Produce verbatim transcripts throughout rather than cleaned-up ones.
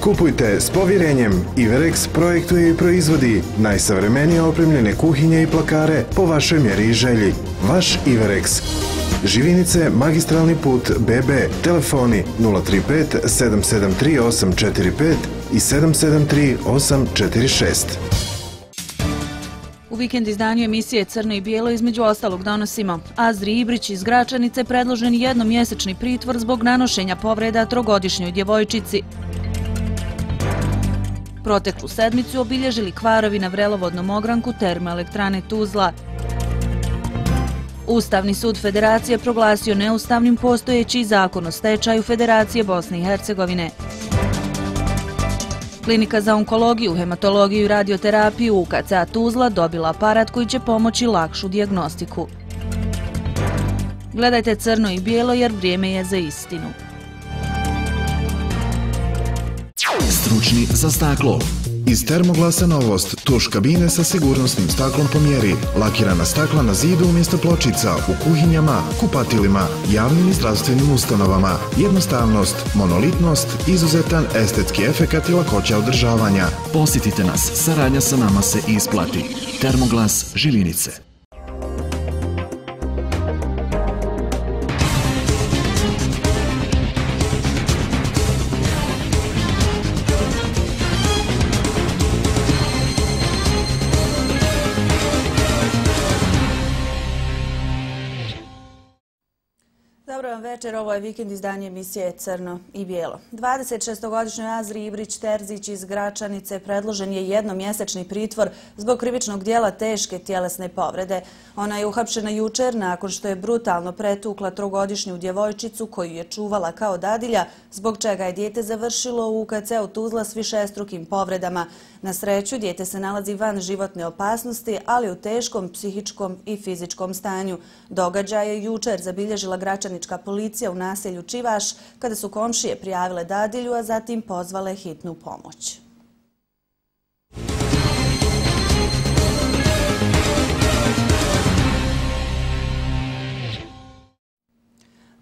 Kupujte s povjerenjem. Iverex projektuje i proizvodi najsavremenije opremljene kuhinje i plakare po vašoj mjeri i želji. Vaš Iverex. Živinice, magistralni put B B, telefoni nula tri pet sedam sedam tri osam četiri pet i sedam sedam tri osam četiri šest. U vikend izdanju emisije Crno i bijelo između ostalog donosimo: Azri Ibrić iz Gračanice predložen jednomjesečni pritvor zbog nanošenja povreda trogodišnjoj djevojčici. Proteklu sedmicu obilježili kvarovi na vrelovodnom ogranku termoelektrane Tuzla. Ustavni sud Federacije proglasio neustavnim postojeći zakon o stečaju Federacije Bosne i Hercegovine. Klinika za onkologiju, hematologiju i radioterapiju U K C Tuzla dobila aparat koji će pomoći lakšu dijagnostiku. Gledajte Crno i bijelo jer vrijeme je za istinu. Stručni za staklo. Iz Termoglasa novost, tuš kabine sa sigurnosnim staklom po mjeri, lakirana stakla na zidu umjesto pločica, u kuhinjama, kupatilima, javnim i zdravstvenim ustanovama, jednostavnost, monolitnost, izuzetan estetski efekat i lakoća održavanja. Posjetite nas, saradnja sa nama se isplati. Termoglas Živinice. Dobro vam večer, ovo je vikend izdanje emisije Crno i bijelo. dvadeset šestogodišnjoj Azri Ibrić Terzić iz Gračanice predložen je jednomjesečni pritvor zbog krivičnog dijela teške tjelesne povrede. Ona je uhapšena jučer nakon što je brutalno pretukla trogodišnju djevojčicu koju je čuvala kao dadilja, zbog čega je dijete završilo u U K C-u Tuzla s višestrukim povredama. Na sreću, dijete se nalazi van životne opasnosti, ali u teškom psihičkom i fizičkom stanju. Događaj je jučer zabilježila gračanička policija u naselju Čivaš, kada su komšije prijavile dadilju, a zatim pozvale hitnu pomoć.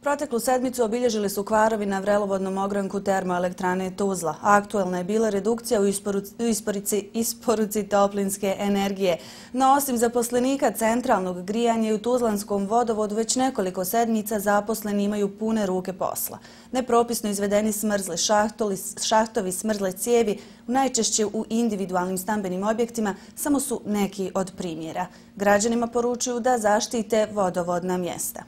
Proteklu sedmicu obilježili su kvarovi na vrelovodnom ogranku termoelektrane Tuzla. Aktuelna je bila redukcija u isporuci, isporuci toplinske energije. No, osim zaposlenika centralnog grijanja i u Tuzlanskom vodovodu već nekoliko sedmica zaposleni imaju pune ruke posla. Nepropisno izvedeni smrzli šahtoli, šahtovi, smrzle cijevi, najčešće u individualnim stambenim objektima, samo su neki od primjera. Građanima poručuju da zaštite vodovodna mjesta.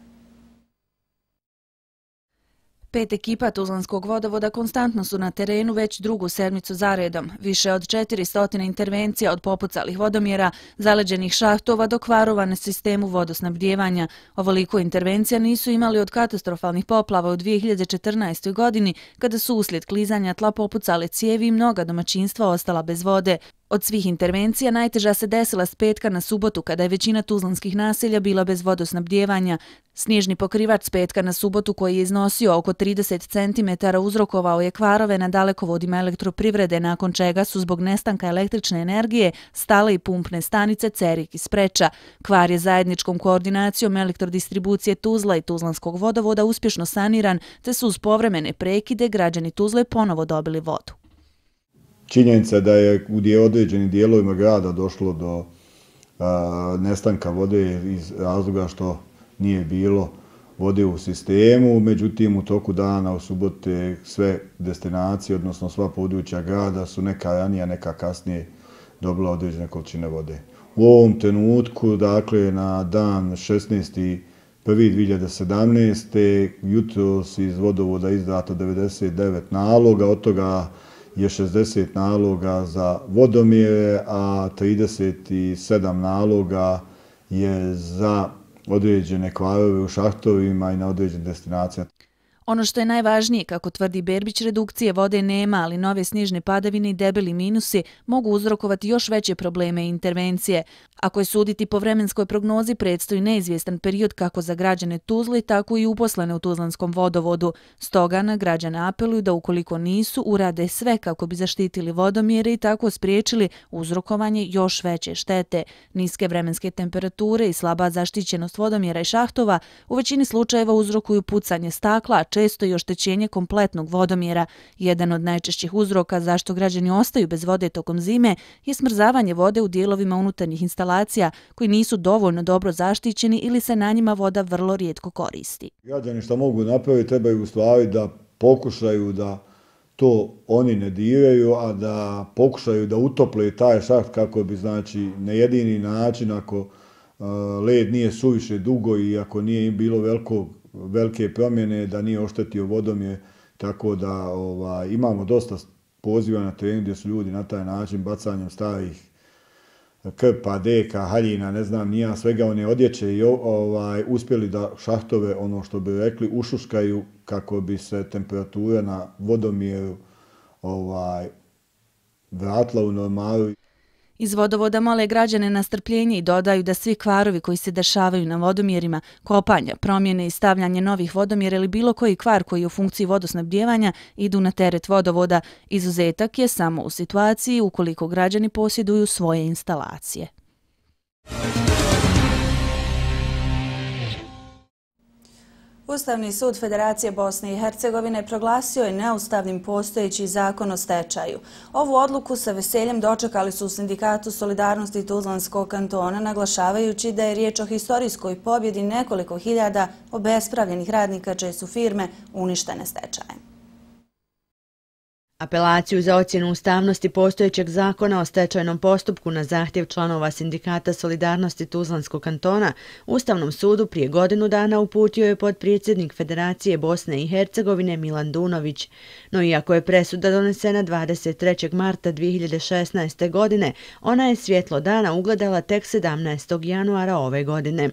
Pet ekipa Tuzlanskog vodovoda konstantno su na terenu već drugu sedmicu zaredom. Više od četiristo intervencija od popucalih vodomjera, zaleđenih šahtova do kvarova na sistemu vodosnabdijevanja. Ovoliko intervencija nisu imali od katastrofalnih poplava u dvije hiljade četrnaestoj godini, kada su uslijed klizanja tla popucale cijevi i mnoga domaćinstva ostala bez vode. Od svih intervencija najteža se desila s petka na subotu, kada je većina tuzlanskih naselja bila bez vodosnabdijevanja. Snježni pokrivač s petka na subotu, koji je iznosio oko trideset centimetara, uzrokovao je kvarove na dalekovodima elektroprivrede, nakon čega su zbog nestanka električne energije stale i pumpne stanice Cerik i Spreča. Kvar je zajedničkom koordinacijom elektrodistribucije Tuzla i Tuzlanskog vodovoda uspješno saniran, te su uz povremene prekide građani Tuzle ponovo dobili vodu. Činjenica da je u određenim dijelovima grada došlo do a, nestanka vode iz razloga što nije bilo vode u sistemu, međutim u toku dana u subote sve destinacije, odnosno sva područja grada su neka ranije, neka kasnije dobila određene količine vode. U ovom trenutku, dakle na dan šesnaesti prvi dvije hiljade sedamnaeste. jutros iz vodovoda izdato devedeset devet naloga, od toga je šezdeset naloga za vodomjere, a trideset sedam naloga je za određene kvarove u šahtovima i na određenim destinacijama. Ono što je najvažnije, kako tvrdi Berbić, redukcije vode nema, ali nove snježne padavine i debeli minusi mogu uzrokovati još veće probleme i intervencije. Ako je suditi po vremenskoj prognozi, predstoji neizvjestan period kako za građane Tuzle, tako i uposlene u Tuzlanskom vodovodu. Stoga na građane apeluju da ukoliko nisu, urade sve kako bi zaštitili vodomjere i tako spriječili uzrokovanje još veće štete. Niske vremenske temperature i slaba zaštićenost vodomjera i šahtova u većini slučajeva uzrokuju pucanje stakla, često i oštećenje kompletnog vodomjera. Jedan od najčešćih uzroka zašto građani ostaju bez vode tokom zime je smrzavanje vode u dijelovima unutarnjih instalacija koji nisu dovoljno dobro zaštićeni ili se na njima voda vrlo rijetko koristi. Građani što mogu napraviti trebaju u stvari da pokušaju da to oni ne diraju, a da pokušaju da utople taj šaht kako bi, znači, na jedini način, ako uh, led nije suviše dugo i ako nije bilo veliko, velike promjene, da nije oštetio vodomjer, tako da ovaj, imamo dosta poziva na terenu gdje su ljudi na taj način bacanjem starih krpa, deka, haljina, ne znam, nija, svega one odjeće i ovaj, uspjeli da šahtove, ono što bi rekli, ušuškaju kako bi se temperatura na vodomjeru ovaj, vratila u normalu. Iz vodovoda mole građane na strpljenje i dodaju da svi kvarovi koji se dešavaju na vodomjerima, kopanja, promjene i stavljanje novih vodomjera ili bilo koji kvar koji je u funkciji vodosnabdijevanja idu na teret vodovoda. Izuzetak je samo u situaciji ukoliko građani posjeduju svoje instalacije. Ustavni sud Federacije Bosne i Hercegovine proglasio je neustavnim postojeći zakon o stečaju. Ovu odluku sa veseljem dočekali su u Sindikatu Solidarnosti Tuzlanskog kantona, naglašavajući da je riječ o historijskoj pobjedi nekoliko hiljada obespravljenih radnika čije su firme uništene stečajem. Apelaciju za ocjenu ustavnosti postojećeg zakona o stečajnom postupku na zahtjev članova Sindikata Solidarnosti Tuzlanskog kantona Ustavnom sudu prije godinu dana uputio je potpredsjednik Federacije Bosne i Hercegovine Milan Dunović. No iako je presuda donesena dvadeset trećeg marta dvije hiljade šesnaeste. godine, ona je svjetlo dana ugledala tek sedamnaestog januara ove godine.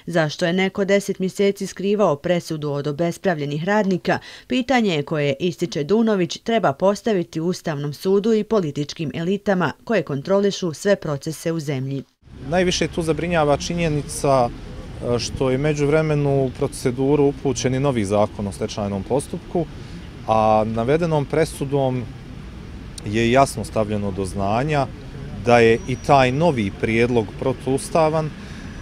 Zašto je neko deset mjeseci skrivao presudu od obespravljenih radnika, pitanje je koje, ističe Dunović, treba postaviti Ustavnom sudu i političkim elitama koje kontrolišu sve procese u zemlji. Najviše tu zabrinjava činjenica što je međuvremenu u proceduru upućen i novi zakon o stečajnom postupku, a navedenom presudom je jasno stavljeno do znanja da je i taj novi prijedlog protuustavan,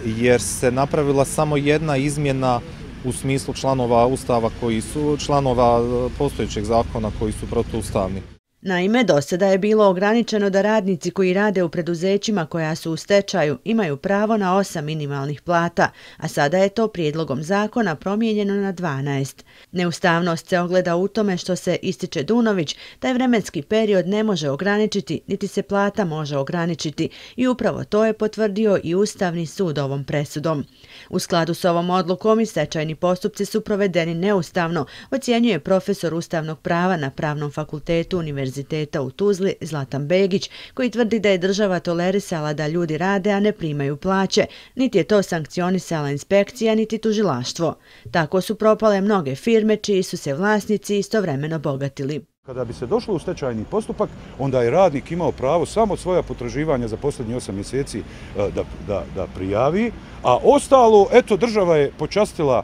jer se napravila samo jedna izmjena u smislu članova Ustava koji su, članova postojećeg zakona koji su protuustavni. Naime, do sada je bilo ograničeno da radnici koji rade u preduzećima koja su u stečaju imaju pravo na osam minimalnih plata, a sada je to prijedlogom zakona promijenjeno na dvanaest. Neustavnost se ogleda u tome što se, ističe Dunović, taj vremenski period ne može ograničiti, niti se plata može ograničiti i upravo to je potvrdio i Ustavni sud ovom presudom. U skladu s ovom odlukom i stečajni postupci su provedeni neustavno, ocjenjuje profesor ustavnog prava na Pravnom fakultetu Univerziteta u Tuzli Zlatan Begić, koji tvrdi da je država tolerisala da ljudi rade, a ne primaju plaće, niti je to sankcionisala inspekcija, niti tužilaštvo. Tako su propale mnoge firme čiji su se vlasnici istovremeno bogatili. Kada bi se došlo u stečajni postupak, onda je radnik imao pravo samo svoja potraživanja za posljednjih osam mjeseci da, da, da prijavi, a ostalo, eto, država je počastila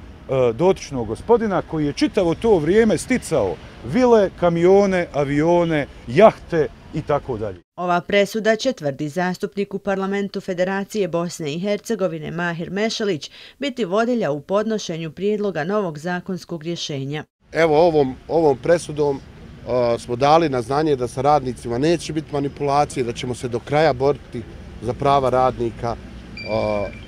dotičnog gospodina koji je čitavo to vrijeme sticao vile, kamione, avione, jahte i tako dalje. Ova presuda će, tvrdi zastupnik u parlamentu Federacije Bosne i Hercegovine Mahir Mešalić, biti vodilja u podnošenju prijedloga novog zakonskog rješenja. Evo ovom, ovom presudom uh, smo dali na znanje da sa radnicima neće biti manipulacije, da ćemo se do kraja boriti za prava radnika, uh,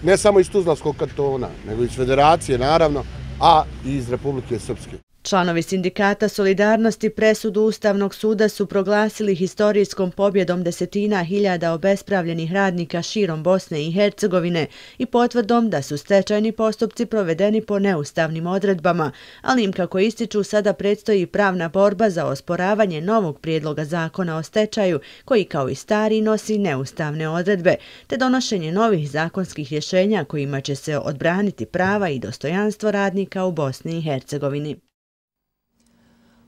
ne samo iz Tuzlanskog kantona, nego iz Federacije naravno, a i iz Republike Srpske. Članovi Sindikata Solidarnosti presudu Ustavnog suda su proglasili historijskom pobjedom desetina hiljada obespravljenih radnika širom Bosne i Hercegovine i potvrdom da su stečajni postupci provedeni po neustavnim odredbama, ali im, kako ističu, sada predstoji pravna borba za osporavanje novog prijedloga zakona o stečaju, koji kao i stari nosi neustavne odredbe, te donošenje novih zakonskih rješenja kojima će se odbraniti prava i dostojanstvo radnika u Bosni i Hercegovini.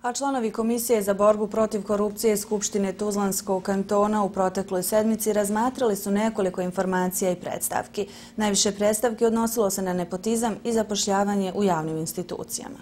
A članovi Komisije za borbu protiv korupcije Skupštine Tuzlanskog kantona u protekloj sedmici razmatrali su nekoliko informacija i predstavki. Najviše predstavki odnosilo se na nepotizam i zapošljavanje u javnim institucijama.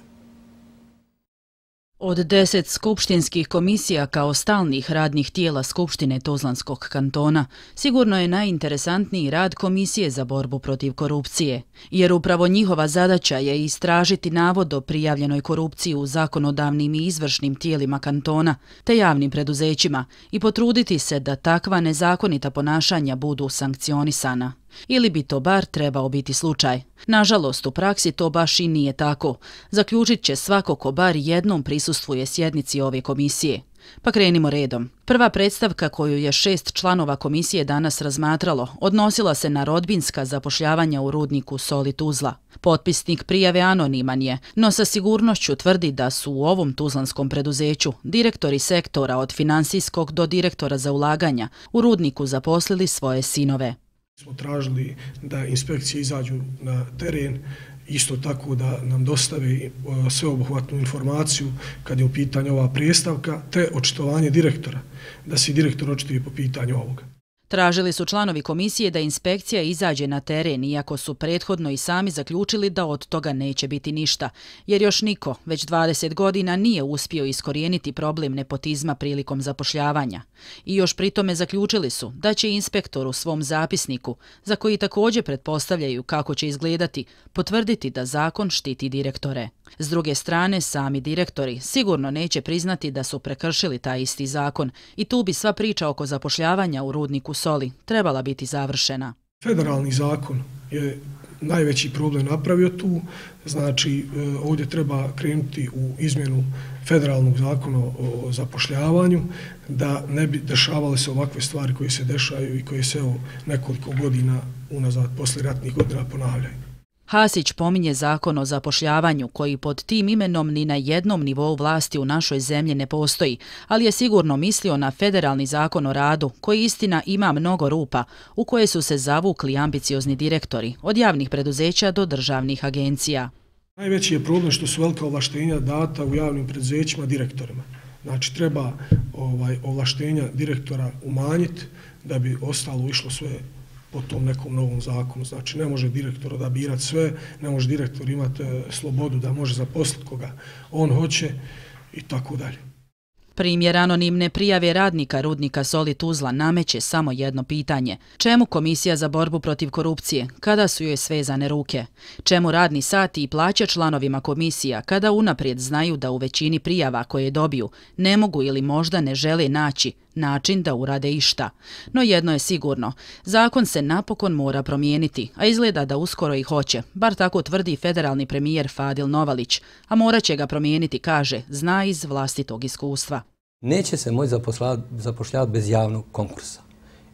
Od deset skupštinskih komisija kao stalnih radnih tijela Skupštine Tuzlanskog kantona, sigurno je najinteresantniji rad Komisije za borbu protiv korupcije, jer upravo njihova zadaća je istražiti navod o prijavljenoj korupciji u zakonodavnim i izvršnim tijelima kantona te javnim preduzećima i potruditi se da takva nezakonita ponašanja budu sankcionisana. Ili bi to bar trebao biti slučaj. Nažalost, u praksi to baš i nije tako. Zaključit će svako ko bar jednom prisustvuje sjednici ove komisije. Pa krenimo redom. Prva predstavka koju je šest članova komisije danas razmatralo odnosila se na rodbinska zapošljavanja u rudniku Soli Tuzla. Potpisnik prijave anoniman je, no sa sigurnošću tvrdi da su u ovom tuzlanskom preduzeću direktori sektora od finansijskog do direktora za ulaganja u rudniku zaposlili svoje sinove. Smo tražili da inspekcije izađu na teren, isto tako da nam dostave sveobuhvatnu informaciju kad je u pitanju ova predstavka, te očitovanje direktora, da se direktor očituje po pitanju ovoga. Tražili su članovi komisije da inspekcija izađe na teren, iako su prethodno i sami zaključili da od toga neće biti ništa, jer još niko već dvadeset godina nije uspio iskorijeniti problem nepotizma prilikom zapošljavanja. I još pritome zaključili su da će inspektor u svom zapisniku, za koji također pretpostavljaju kako će izgledati, potvrditi da zakon štiti direktore. S druge strane, sami direktori sigurno neće priznati da su prekršili taj isti zakon i tu bi sva priča oko zapošljavanja u rudniku Soli trebala biti završena. Federalni zakon je najveći problem napravio tu, znači ovdje treba krenuti u izmjenu federalnog zakona o zapošljavanju, da ne bi dešavale se ovakve stvari koje se dešaju i koje se evo nekoliko godina unazad, posle ratnih godina ponavljaju. Hasić pominje zakon o zapošljavanju koji pod tim imenom ni na jednom nivou vlasti u našoj zemlji ne postoji, ali je sigurno mislio na federalni zakon o radu koji istina ima mnogo rupa u koje su se zavukli ambiciozni direktori od javnih preduzeća do državnih agencija. Najveći je problem što su velika ovlaštenja data u javnim preduzećima direktorima. Znači treba ovaj, ovlaštenja direktora umanjiti da bi ostalo išlo sve po tom nekom novom zakonu. Znači ne može direktor odabirati sve, ne može direktor imati slobodu da može zaposliti koga on hoće i tako dalje. Primjer anonimne prijave radnika rudnika Soli Tuzla nameće samo jedno pitanje. Čemu Komisija za borbu protiv korupcije, kada su joj svezane ruke? Čemu radni sati i plaće članovima komisija, kada unaprijed znaju da u većini prijava koje dobiju ne mogu ili možda ne žele naći način da urade išta? No jedno je sigurno, zakon se napokon mora promijeniti, a izgleda da uskoro i hoće, bar tako tvrdi federalni premijer Fadil Novalić, a morat će ga promijeniti, kaže, zna iz vlastitog iskustva. Neće se moći zapošljavati bez javnog konkursa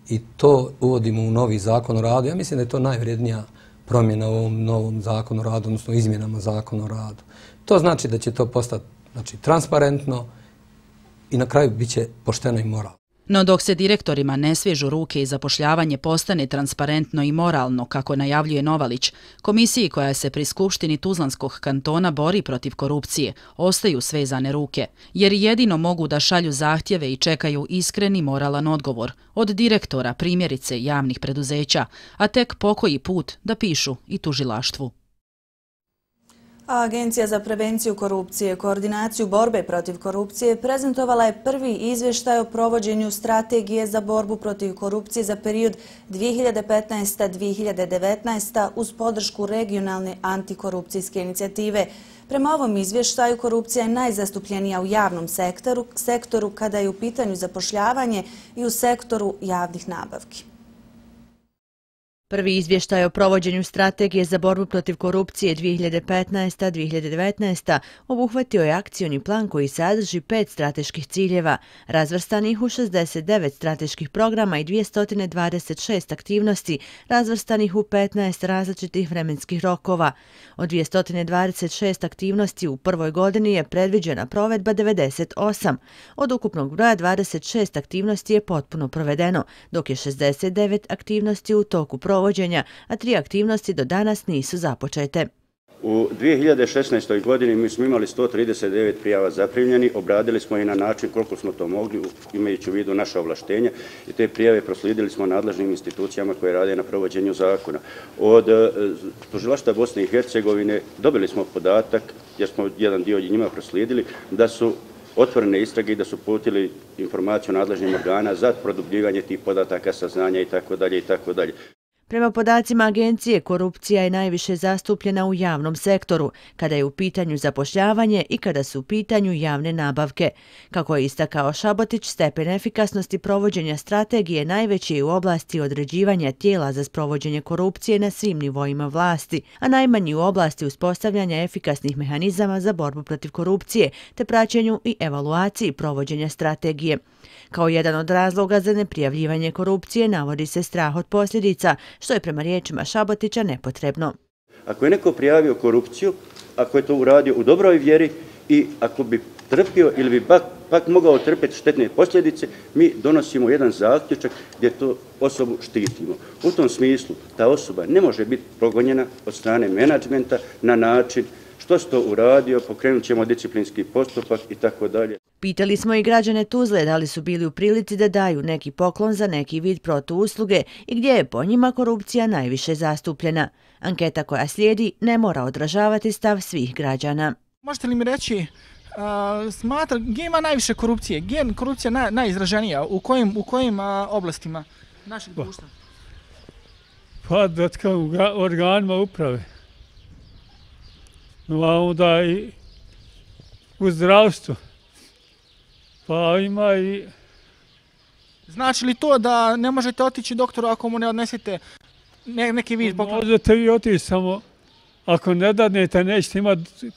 i to uvodimo u novi zakon o radu. Ja mislim da je to najvrednija promjena u ovom novom zakonu o radu, odnosno izmjenama zakona o radu. To znači da će to postati znači, transparentno i na kraju bit će pošteno i moralno. No dok se direktorima ne svežu ruke i zapošljavanje postane transparentno i moralno, kako najavljuje Novalić, komisiji koja se pri Skupštini Tuzlanskog kantona bori protiv korupcije, ostaju svezane ruke, jer jedino mogu da šalju zahtjeve i čekaju iskreni moralan odgovor od direktora, primjerice javnih preduzeća, a tek pokoji put da pišu i tužilaštvu. A Agencija za prevenciju korupcije i koordinaciju borbe protiv korupcije prezentovala je prvi izvještaj o provođenju strategije za borbu protiv korupcije za period dvije hiljade petnaesta do dvije hiljade devetnaeste. uz podršku regionalne antikorupcijske inicijative. Prema ovom izvještaju korupcija je najzastupljenija u javnom sektoru, sektoru kada je u pitanju zapošljavanje i u sektoru javnih nabavki. Prvi izvještaj o provođenju strategije za borbu protiv korupcije dvije hiljade petnaesta do dvije hiljade devetnaeste. obuhvatio je akcioni plan koji sadrži pet strateških ciljeva, razvrstanih u šezdeset devet strateških programa i dvjesto dvadeset šest aktivnosti, razvrstanih u petnaest različitih vremenskih rokova. Od dvjesto dvadeset šest aktivnosti u prvoj godini je predviđena provedba devedeset osam. Od ukupnog broja dvadeset šest aktivnosti je potpuno provedeno, dok je šezdeset devet aktivnosti u toku provođenja, a tri aktivnosti do danas nisu započete. U dvije hiljade šesnaestoj godini mi smo imali sto trideset devet prijava zaprimljeni, obradili smo i na način koliko smo to mogli, imajući u vidu naša ovlaštenja, i te prijave proslijedili smo nadležnim institucijama koje rade na provođenju zakona. Od Tužilaštva Bosne i Hercegovine dobili smo podatak, jer smo jedan dio njima proslijedili, da su otvorene istrage i da su putili informaciju nadležnim organa za produbljivanje tih podataka, saznanja itd. itd. Prema podacima agencije, korupcija je najviše zastupljena u javnom sektoru, kada je u pitanju zapošljavanje i kada su u pitanju javne nabavke. Kako je istakao Šabotić, stepen efikasnosti provođenja strategije najveći je u oblasti određivanja tijela za sprovođenje korupcije na svim nivoima vlasti, a najmanji u oblasti uspostavljanja efikasnih mehanizama za borbu protiv korupcije te praćenju i evaluaciji provođenja strategije. Kao jedan od razloga za neprijavljivanje korupcije navodi se strah od posljedica, što je prema riječima Šabotića nepotrebno. Ako je neko prijavio korupciju, ako je to uradio u dobroj vjeri i ako bi trpio ili bi pak, pak mogao trpjeti štetne posljedice, mi donosimo jedan zaključak gdje tu osobu štitimo. U tom smislu ta osoba ne može biti progonjena od strane menadžmenta na način što si to uradio, pokrenut ćemo disciplinski postupak i tako dalje. Pitali smo i građane Tuzle da li su bili u prilici da daju neki poklon za neki vid protuusluge i gdje je po njima korupcija najviše zastupljena. Anketa koja slijedi ne mora odražavati stav svih građana. Možete li mi reći, uh, smatra, gdje ima najviše korupcije? Gdje je korupcija naj, najizraženija? U kojim, u kojim uh, oblastima našeg društva? Pa da u organima uprave. A onda i u zdravstvu. Pa ima i... Znači li to da ne možete otići doktoru ako mu ne odnesete ne, neki vid poklon? Možete vi otići, samo ako ne dadnete nećete imati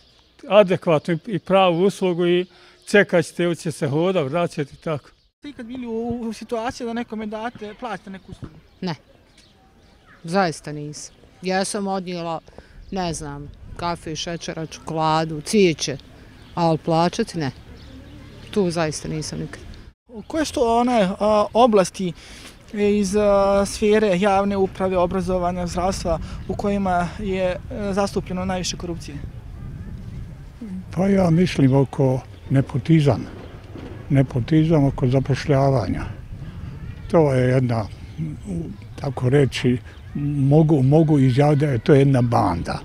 adekvatnu i pravu uslugu i čekat ćete, će se hoda, vraćati i tako. Ste ikad bili u, u situaciji da nekome date, plaćate neku uslugu? Ne, zaista nisam. Ja sam odnijela, ne znam, kafe, šećera, čokoladu, cvijeće, ali plaćati ne. Tu zaista nisam nikad. Koje su to one a, oblasti iz a, sfere javne uprave, obrazovanja, zdravstva u kojima je a, zastupljeno najviše korupcije? Pa ja mislim oko nepotizam. Nepotizam oko zapošljavanja. To je jedna, tako reći, mogu, mogu izjaviti da je to jedna banda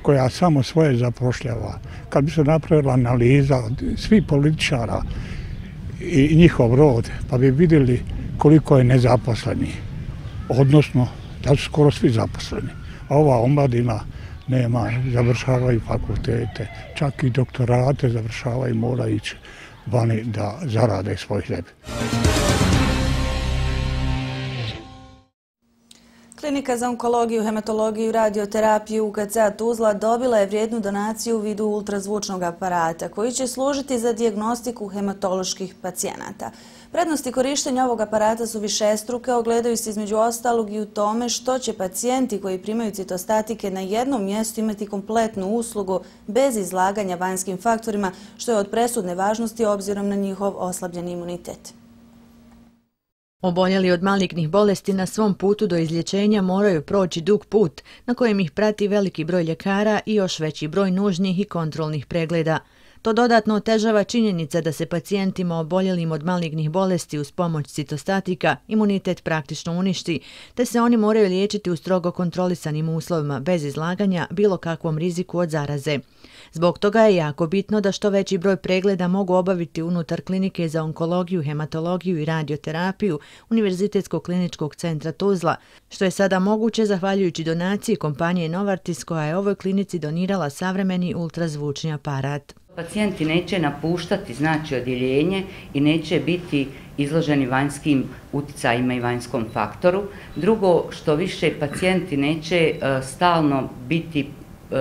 koja samo svoje zapošljava. Kad bi se napravila analiza svih političara i njihov rod, pa bi vidjeli koliko je nezaposleni, odnosno da su skoro svi zaposleni. A ova omladina nema, završavaju fakultete, čak i doktorate završavaju, mora ići vani da zarade svoj hljeb. Klinika za onkologiju, hematologiju i radioterapiju U K C Tuzla dobila je vrijednu donaciju u vidu ultrazvučnog aparata koji će služiti za dijagnostiku hematoloških pacijenata. Prednosti korištenja ovog aparata su višestruke, ogledaju se između ostalog i u tome što će pacijenti koji primaju citostatike na jednom mjestu imati kompletnu uslugu bez izlaganja vanjskim faktorima, što je od presudne važnosti obzirom na njihov oslabljeni imunitet. Oboljeli od malignih bolesti na svom putu do izlječenja moraju proći dug put na kojem ih prati veliki broj ljekara i još veći broj nužnih i kontrolnih pregleda. To dodatno otežava činjenica da se pacijentima oboljelim od malignih bolesti uz pomoć citostatika imunitet praktično uništi, te se oni moraju liječiti u strogo kontrolisanim uslovima bez izlaganja bilo kakvom riziku od zaraze. Zbog toga je jako bitno da što veći broj pregleda mogu obaviti unutar klinike za onkologiju, hematologiju i radioterapiju Univerzitetskog kliničkog centra Tuzla, što je sada moguće zahvaljujući donaciji kompanije Novartis koja je ovoj klinici donirala savremeni ultrazvučni aparat. Pacijenti neće napuštati znači odjeljenje i neće biti izloženi vanjskim uticajima i vanjskom faktoru. Drugo, što više pacijenti neće uh, stalno biti uh,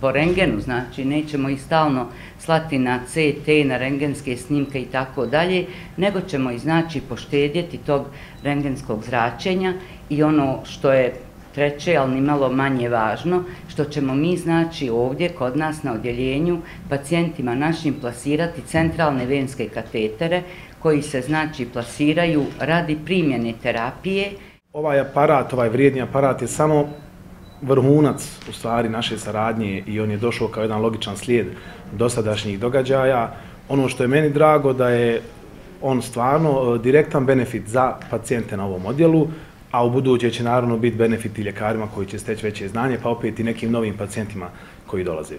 po rengenu, znači nećemo ih stalno slati na C T, na rengenske snimke i tako dalje, nego ćemo ih znači poštedjeti tog rengenskog zračenja i ono što je treće, ali nimalo manje važno, što ćemo mi znači ovdje kod nas na odjeljenju pacijentima našim plasirati centralne venske katetere koji se znači plasiraju radi primjene terapije. Ovaj aparat, ovaj vrijedni aparat je samo vrhunac u stvari naše saradnje i on je došao kao jedan logičan slijed dosadašnjih događaja. Ono što je meni drago da je on stvarno direktan benefit za pacijente na ovom odjelu, a u buduće će naravno biti benefit i ljekarima koji će steći veće znanje, pa opet i nekim novim pacijentima koji dolaze.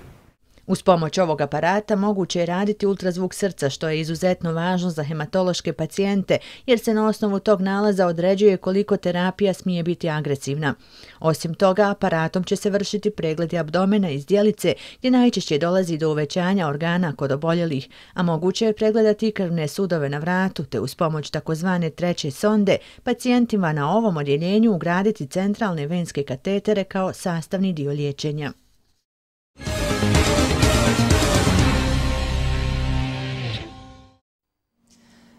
Uz pomoć ovog aparata moguće je raditi ultrazvuk srca, što je izuzetno važno za hematološke pacijente, jer se na osnovu tog nalaza određuje koliko terapija smije biti agresivna. Osim toga, aparatom će se vršiti pregledi abdomena i zdjelice, gdje najčešće dolazi do uvećanja organa kod oboljelih, a moguće je pregledati i krvne sudove na vratu, te uz pomoć takozvane treće sonde pacijentima na ovom odjeljenju ugraditi centralne venske katetere kao sastavni dio liječenja.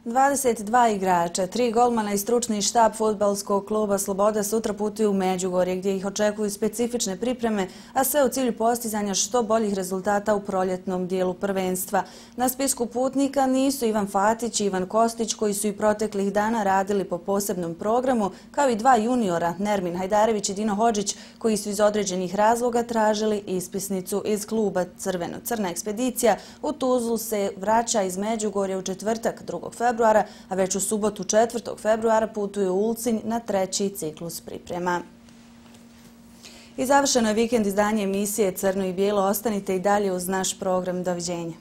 dvadeset dva igrača, tri golmana i stručni štab fudbalskog kluba Sloboda sutra putuju u Međugorje gdje ih očekuju specifične pripreme, a sve u cilju postizanja što boljih rezultata u proljetnom dijelu prvenstva. Na spisku putnika nisu Ivan Fatić i Ivan Kostić koji su i proteklih dana radili po posebnom programu, kao i dva juniora, Nermin Hajdarević i Dino Hodžić, koji su iz određenih razloga tražili ispisnicu iz kluba Crveno. Crna ekspedicija u Tuzlu se vraća iz Međugorja u četvrtak drugog februara, a već u subotu četvrtog februara putuje u Ulcinj na treći ciklus priprema. I završeno je vikend izdanje emisije Crno i bijelo. Ostanite i dalje uz naš program. Doviđenja.